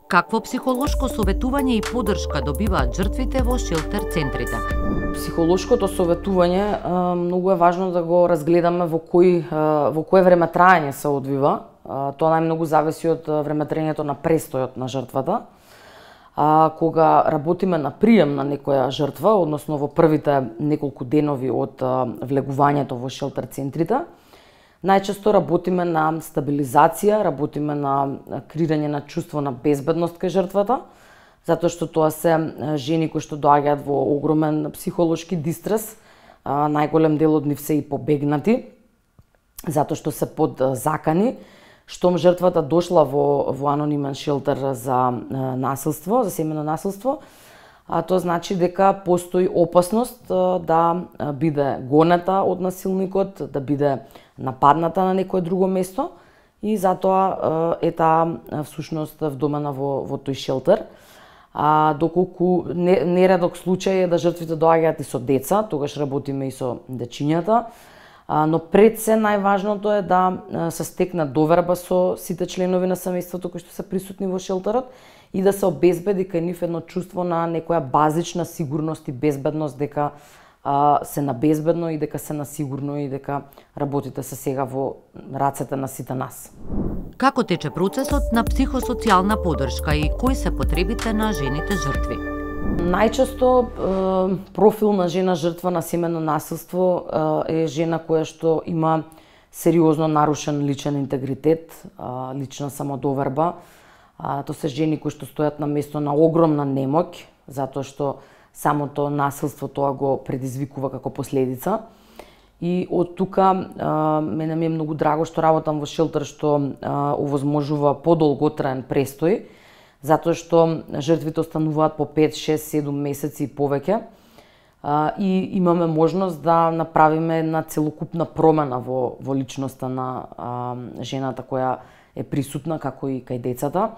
Какво психолошко советување и поддршка добиваат жртвите во шелтер центрите? Психолошкото советување многу е важно да го разгледаме во кое време траење се одвива. Тоа најмногу зависи од времетраењето на престојот на жртвата. Кога работиме на прием на некоја жртва, односно во првите неколку денови од влегувањето во шелтер центрите, најчесто работиме на стабилизација, работиме на креирање на чувство на безбедност кај жртвата, затоа што тоа се жени кои што доаѓаат во огромен психолошки дистрес, најголем дел од нив се и побегнати, затоа што се под закани. Штом жртвата дошла во анонимен шелтер за насилство, за семејно насилство, тоа значи дека постои опасност да биде гонета од насилникот, да биде нападната на некое друго место и затоа е таа всушност вдомена во тој шелтер. Доколку нередок случај е да жртвите доаѓаат и со деца, тогаш работиме и со дечињата, но пред се најважното е да се стекне доверба со сите членови на семејството кои што се присутни во шелтерот и да се обезбеди кај нив едно чувство на некоја базична сигурност и безбедност, дека се на безбедно и дека се на сигурно и дека работите се сега во рацете на сите нас. Како тече процесот на психосоцијална поддршка и кои се потребите на жените жртви? Најчесто профил на жена жртва на семејно насилство е жена која што има сериозно нарушен личен интегритет, лична самодоверба. Тоа се жени кои што стојат на место на огромна немоќ, затоа што самото насилство тоа го предизвикува како последица. И од тука мене ми е многу драго што работам во шелтер што овозможува подолготраен престој, затоа што жртвите остануваат по 5, 6, 7 месеци и повеќе и имаме можност да направиме една целокупна промена во личноста на жената која е присутна, како и кај децата.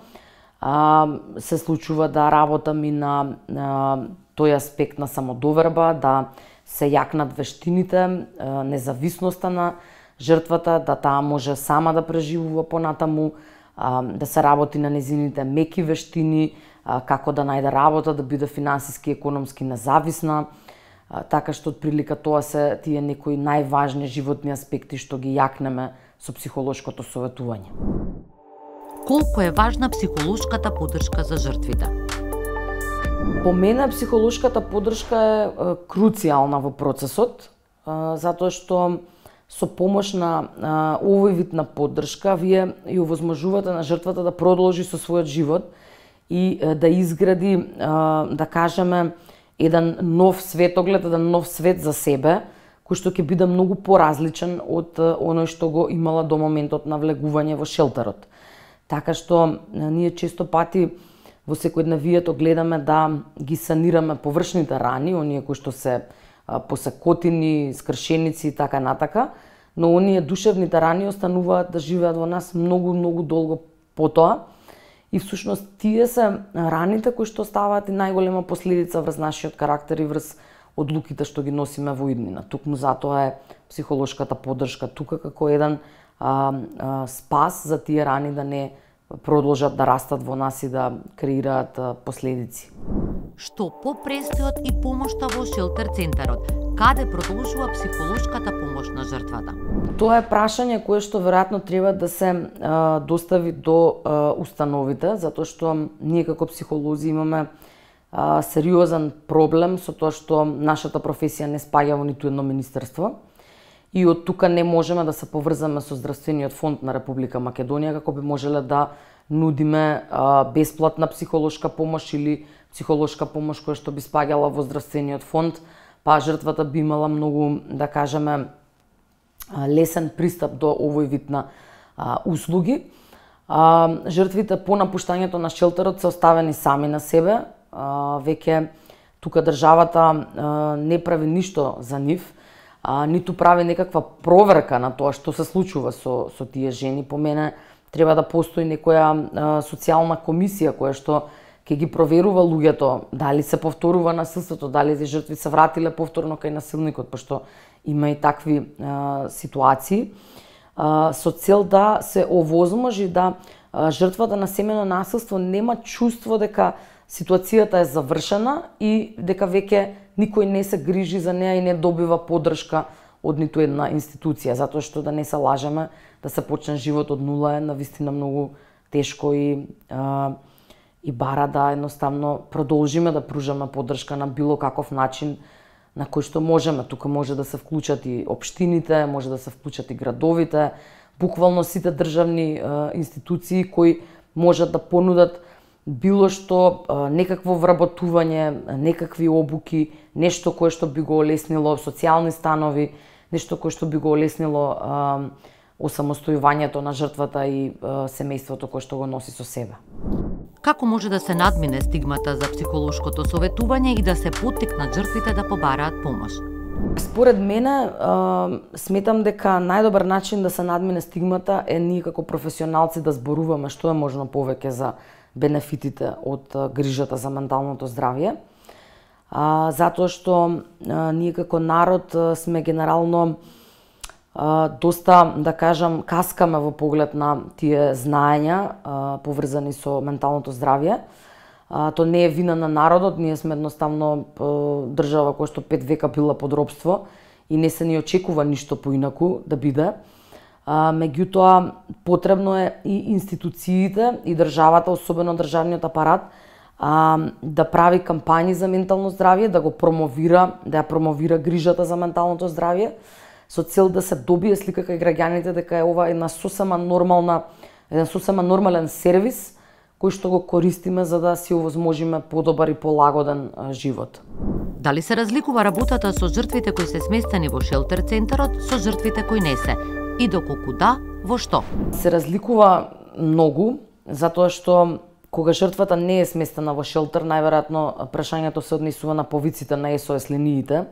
Се случува да работам и на тој аспект на самодоверба, да се јакнат вештините, независноста на жртвата, да таа може сама да преживува понатаму, да се работи на незините меки вештини, како да најде работа, да биде финансиски и економски независна, така што отприлика тоа се тие некои најважни животни аспекти што ги јакнеме со психолошкото советување. Колку е важна психолошката поддршка за жртвите? По мене психолошката поддршка е круцијална во процесот, затоа што со помош на овој вид на поддршка вие и овозможувате на жртвата да продолжи со својот живот и да изгради, да кажеме, еден нов светоглед, еден нов свет за себе, кој што ќе биде многу поразличен од оној што го имала до моментот на влегување во шелтерот. Така што ние често пати во секојдневието гледаме да ги санираме површните рани, оние кои што се посекотини, скршеници и така натака, но оние душевните рани остануваат да живеат во нас многу долго потоа и всушност тие се раните кои што оставаат и најголема последица врз нашиот карактер и врз одлуките што ги носиме во иднина. Тукму затоа е психолошката поддршка тука како еден спас за тие рани да не продолжат да растат во нас и да креираат последици. Што по престојот и помошта во шелтер центарот, каде продолжува психолошката помош на жртвата? Тоа е прашање кое што веројатно треба да се достави до установите, затоа што ние како психолози имаме сериозен проблем со тоа што нашата професија не спаѓа во ниту едно министерство. И од тука не можеме да се поврзаме со Здравствениот фонд на Република Македонија како би можеле да нудиме бесплатна психолошка помош или психолошка помош која што би спаѓала во Здравствениот фонд, па жртвата би имала многу, да кажеме, лесен пристап до овој вид на услуги. Жртвите по напуштањето на шелтерот се оставени сами на себе, веќе тука државата не прави ништо за нив, ниту прави некаква проверка на тоа што се случува со тие жени. По мене треба да постои некоја социјална комисија која што ќе ги проверува луѓето дали се повторува насилството, дали тие жртви се вратиле повторно кај насилникот, пошто има и такви ситуации. со цел да се овозможи да жртвата на семејно насилство нема чувство дека ситуацијата е завршена и дека веќе никој не се грижи за неа и не добива поддршка од ниту една институција, затоа што да не се лажеме, да се почне живот од нула е навистина многу тешко и бара да едноставно продолжиме да пружаме поддршка на било каков начин на кој што можеме. Тука може да се вклучат и општините, може да се вклучат и градовите, буквално сите државни институции кои можат да понудат било што, некакво вработување, некакви обуки, нешто кое што би го олеснило социјални станови, нешто кое што би го олеснило осамостојувањето на жртвата и семејството кое што го носи со себе. Како може да се надмине стигмата за психолошкото советување и да се поттикнат жртвите да побараат помош? Според мене, сметам дека најдобар начин да се надмине стигмата е ние како професионалци да зборуваме што е можно повеќе за бенефитите од грижата за менталното здравје. Затоа што ние како народ сме генерално доста, да кажам, каскаме во поглед на тие знаења поврзани со менталното здравје. То не е вина на народот, ние сме едноставно држава која што 5 века била под робство и не се ни очекува ништо поинаку да биде. Меѓутоа, потребно е и институциите и државата, особено државниот апарат, да прави кампањи за ментално здравје, да го промовира, да ја промовира грижата за менталното здравје, со цел да се добие слика кај граѓаните дека е ова еден сосема нормален сервис кој што го користиме за да си овозможиме подобар и полагоден живот. Дали се разликува работата со жртвите кои се сместени во шелтер центарот со жртвите кои не се? И доколку да, во што? Се разликува многу, затоа што кога жртвата не е сместена во шелтер, најверојатно прашањето се однесува на повиците на SOS линиите,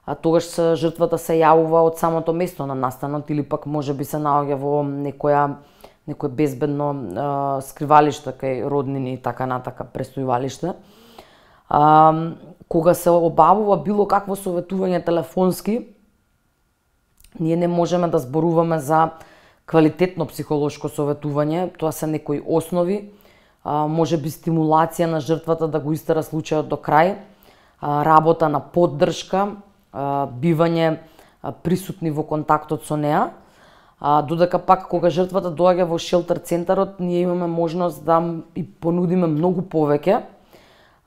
а тогаш жртвата се јавува од самото место на настанот или пак можеби се наоѓа во некое безбедно скривалиште кај роднини и така натака престојувалиште. Кога се обавува било какво советување телефонски, ние не можеме да зборуваме за квалитетно психолошко советување, тоа се некои основи, можеби стимулација на жртвата да го истера случајот до крај, работа на поддршка, бивање присутни во контактот со неа, додека пак кога жртвата доаѓа во шелтер центарот, ние имаме можност да и понудиме многу повеќе,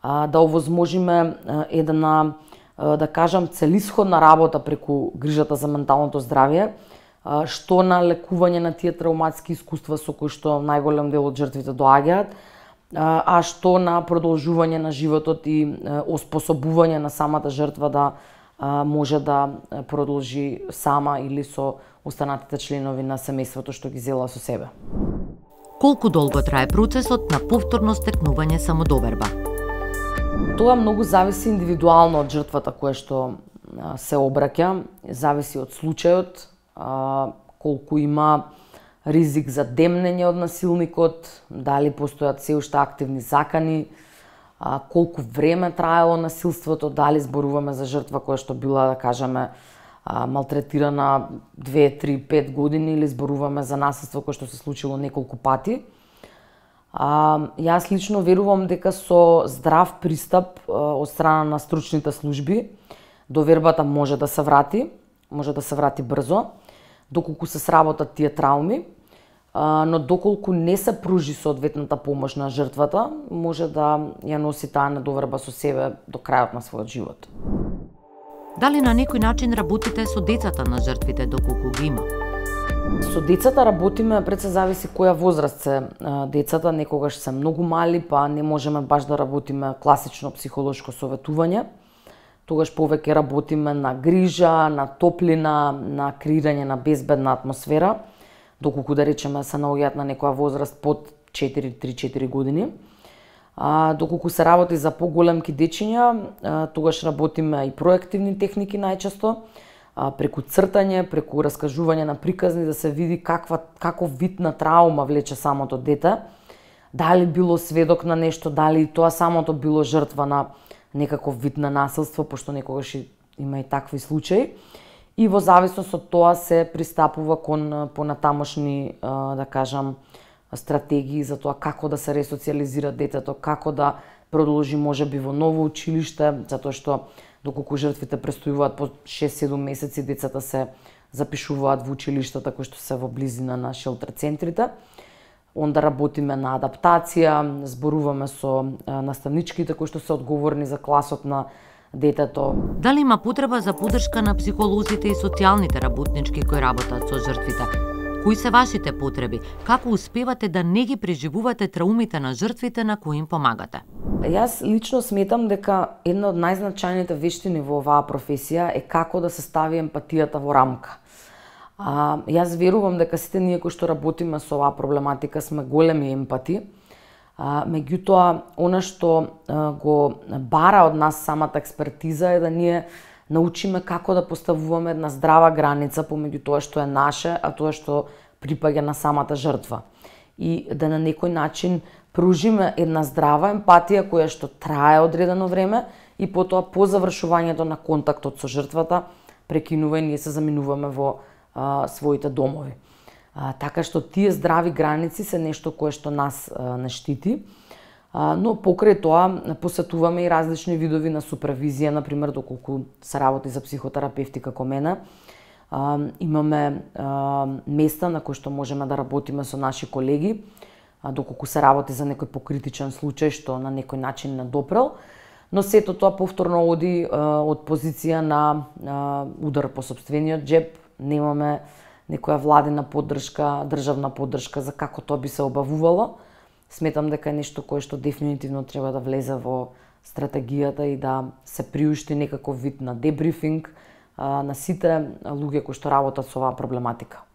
да овозможиме една, да кажам, целисходна работа преку грижата за менталното здравје, што на лекување на тие травматски искуства со кои што најголем дел од жртвите доаѓаат, а што на продолжување на животот и оспособување на самата жртва да може да продолжи сама или со останатите членови на семејството што ги зела со себе. Колку долго трае процесот на повторно стекнување самодоверба? Тоа многу зависи индивидуално од жртвата која што се обраќа, зависи од случајот, колку има ризик за демнење од насилникот, дали постојат се уште активни закани, колку време траело насилството, дали зборуваме за жртва која што била, да кажеме, малтретирана 2, 3, 5 години или зборуваме за насилство кое што се случило неколку пати. Јас лично верувам дека со здрав пристап од страна на стручните служби довербата може да се врати брзо, доколку се сработат тие трауми, но доколку не се пружи соодветната помош на жртвата, може да ја носи таа недоверба со себе до крајот на својот живот. Дали на некој начин работите со децата на жртвите доколку ги има? Со децата работиме, пред се зависи која возраст се децата, некогаш се многу мали, па не можеме баш да работиме класично психолошко советување. Тогаш повеќе работиме на грижа, на топлина, на креирање на безбедна атмосфера, доколку да речеме се наоѓаат на некоја возраст под 3-4 години. Доколку се работи за поголемки дечиња, тогаш работиме и проективни техники најчесто, преку цртање, преку раскажување на приказни да се види каков вид на траума влече самото дете, дали било сведок на нешто, дали тоа самото било жртва на некаков вид на насилство, пошто некогаш има и такви случаи. и во зависност од тоа се пристапува кон понатамошни, да кажам, стратегии за тоа како да се ресоциализира детето, како да продолжи можеби во ново училиште, затоа што доколку жртвите престојуваат по 6-7 месеци, децата се запишуваат во училиштата кои што се во близина на шелтер центрите. Онда работиме на адаптација, зборуваме со наставничките кои што се одговорни за класот на детето. Дали има потреба за поддршка на психолозите и социјалните работнички кои работат со жртвите? Кои се вашите потреби? Како успевате да не ги преживувате траумите на жртвите на кои им помагате? Јас лично сметам дека една од најзначајните вештини во оваа професија е како да се стави емпатијата во рамка. Јас верувам дека сите ние кои што работиме со оваа проблематика сме големи емпати. Меѓутоа, она што го бара од нас самата експертиза е да ние научиме како да поставуваме една здрава граница помеѓу тоа што е наше, а тоа што припаѓа на самата жртва. И да на некој начин пружиме една здрава емпатија која што трае одредено време и потоа по завршувањето на контактот со жртвата прекинува и ние се заминуваме во своите домови. Така што тие здрави граници се нешто кое што нас не штити, но покрај тоа посетуваме и различни видови на супервизија, например доколку се работи за психотерапевти како мене. Имаме места на кои што можеме да работиме со наши колеги, доколку се работи за некој покритичен случај што на некој начин не допрел, но сето тоа повторно оди од позиција на удар по сопствениот джеб. Немаме некоја владина поддршка, државна поддршка за како тоа би се обавувало. Сметам дека е нешто кое што дефинитивно треба да влезе во стратегијата и да се приушти некаков вид на дебрифинг на сите луѓе кои што работат со оваа проблематика.